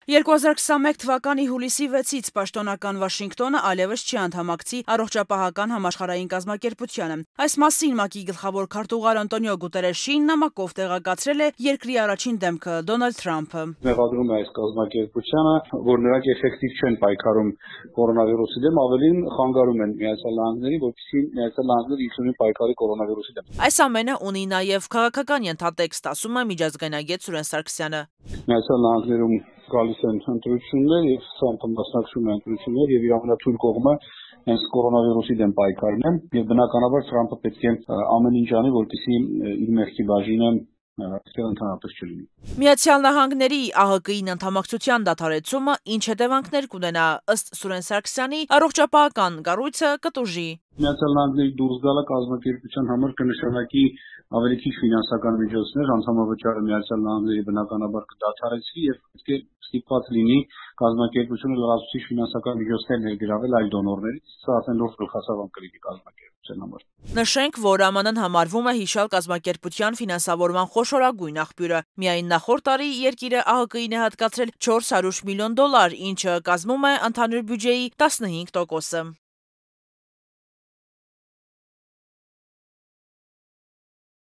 2021 թվականի հուլիսի 6-ից պաշտոնական Վաշինգտոնը այլևս չի անդամակցի Առողջապահական համաշխարհային կազմակերպությանը։ Այս մասին ՄԱԿ-ի գլխավոր քարտուղար Անտոնիո Գուտերեշին նամակով տեղեկացրել է երկրի առաջին դեմքը Դոնալդ Թրամփը։ Մեղադրում է այս կազմակերպությանը, որ նրանք էֆեկտիվ չեն պայքարում կորոնավիրուսի դեմ, ավելին խանգարում են Միացյալ Նահանգներին, որպեսզի Միացյալ Նահանգները իշխանի պայքարի կորոնավիրուսի դեմ։ Այս ամենը ունի նաև քաղաքական ենթատեքստ, ասում է միջազգայնագետ Սուրեն Սարգսյանը։ Միացյալ Նահանգներում գալիս են ընտրություններ եւ Թրամփը մասնակցում է ընտրություններ եւ իր ամենաթույլ կողմը հենց կորոնավիրուսի դեմ պայքարն է եւ բնականաբար Թրամփը պետք է ամեն ինչ անի, որպեսզի իր մեղքի բաժինը ընդհանրապես չլինի։ Միացյալ Նահանգների ԱՀԿ-ին անդամակցության դադարեցումը ինչ հետևանքներ կունենա, ըստ Սուրեն Սարգսյանի, առողջապահական կառույցը կտուժի։ Միացյալ Նահանգների դուրս գալը կազմակերպության համար կնշանակի ավելի քիչ ֆինանսական միջոցներ, անդամավճարը Միացյալ Նահանգների բնականաբար կդադարեցվի եւ պետք է ստիպված լինի կազմակերպությունը լրացուցիչ ֆինանսական միջոցներ ներգրավել այլ դոնորներից, սա արդեն լուրջ գլխացավանք կլինի կազմակերպության համար։ Նշենք, որ ԱՄՆ-ն համարվում է հիշյալ կազմակերպության ֆինանսավորման խոշորագույն աղբյուրը։ Միայն նախորդ տարի երկիրը ԱՀԿ-ին է հատկացրել $400 միլիոն, ինչը կազմում է ընդհանուր բյուջեի 15%-ը։